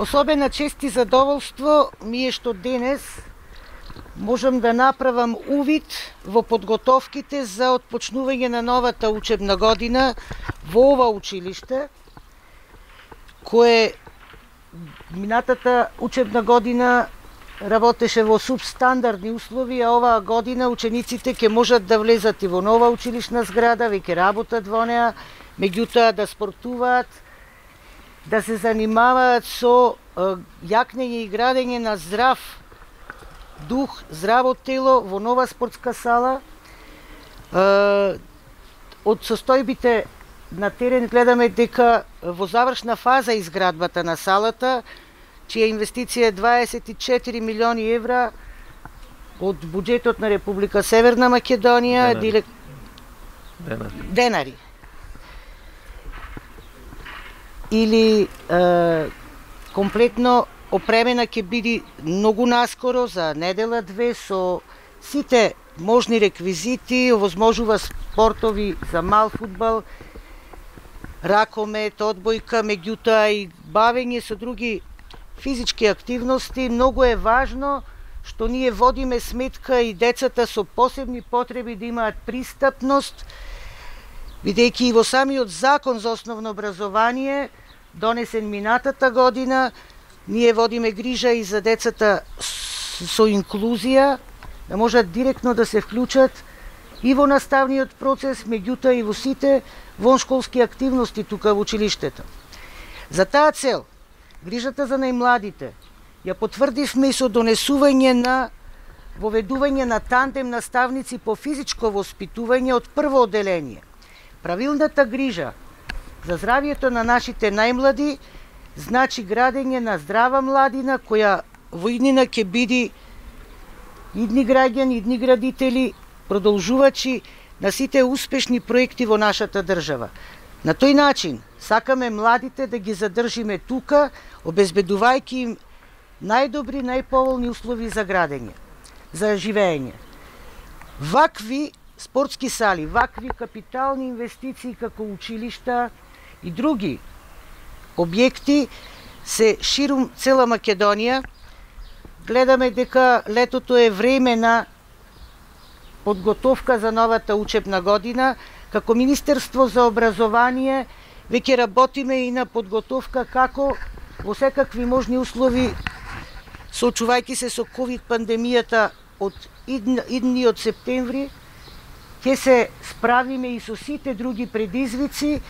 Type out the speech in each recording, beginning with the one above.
Особена чест и задоволство ми е што денес можам да направам увид во подготовките за отпочнување на новата учебна година во ова училиште, кое минатата учебна година работеше во субстандардни услови, а оваа година учениците ќе можат да влезат и во нова училишна зграда, веќе работат во неа, меѓутоа да спортуваат, да се занимаваат со јакнење и градење на здрав дух, здраво тело во нова спортска сала. Од состојбите на терен гледаме дека во завршна фаза изградбата на салата, чија инвестиција е 24 милиони евра од буџетот на Република Северна Македонија, денари. Или комплетно опремена ќе биде многу наскоро, за недела-две, со сите можни реквизити, овозможува спортови за мал фудбал, ракомет, одбојка, меѓутоа и бавење со други физички активности. Многу е важно што ние водиме сметка и децата со посебни потреби да имаат пристапност, бидејќи и во самиот закон за основно образование, донесен минатата година, ние водиме грижа и за децата со инклузија, да можат директно да се вклучат и во наставниот процес, меѓутоа и во сите воншколски активности тука во училиштето. За таа цел, грижата за најмладите ја потврдивме и со донесување на воведување на тандем наставници по физичко воспитување од прво одделение. Правилната грижа за здравието на нашите најмлади значи градење на здрава младина која во иднина ќе биде идни граѓани, идни градители, продолжувачи на сите успешни проекти во нашата држава. На тој начин сакаме младите да ги задржиме тука, обезбедувајќи им најдобри, најповолни услови за градење, за живеење. Вакви спортски сали, вакви капитални инвестиции како училишта и други објекти се ширум цела Македонија. Гледаме дека летото е време на подготовка за новата учебна година. Како Министерство за образование веќе работиме и на подготовка како во секакви можни услови, соочувајќи се со ковид пандемијата од идниот септември, ќе се справиме и со сите други предизвици,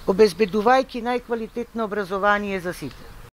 обезбедувајќи најквалитетно образование за сите.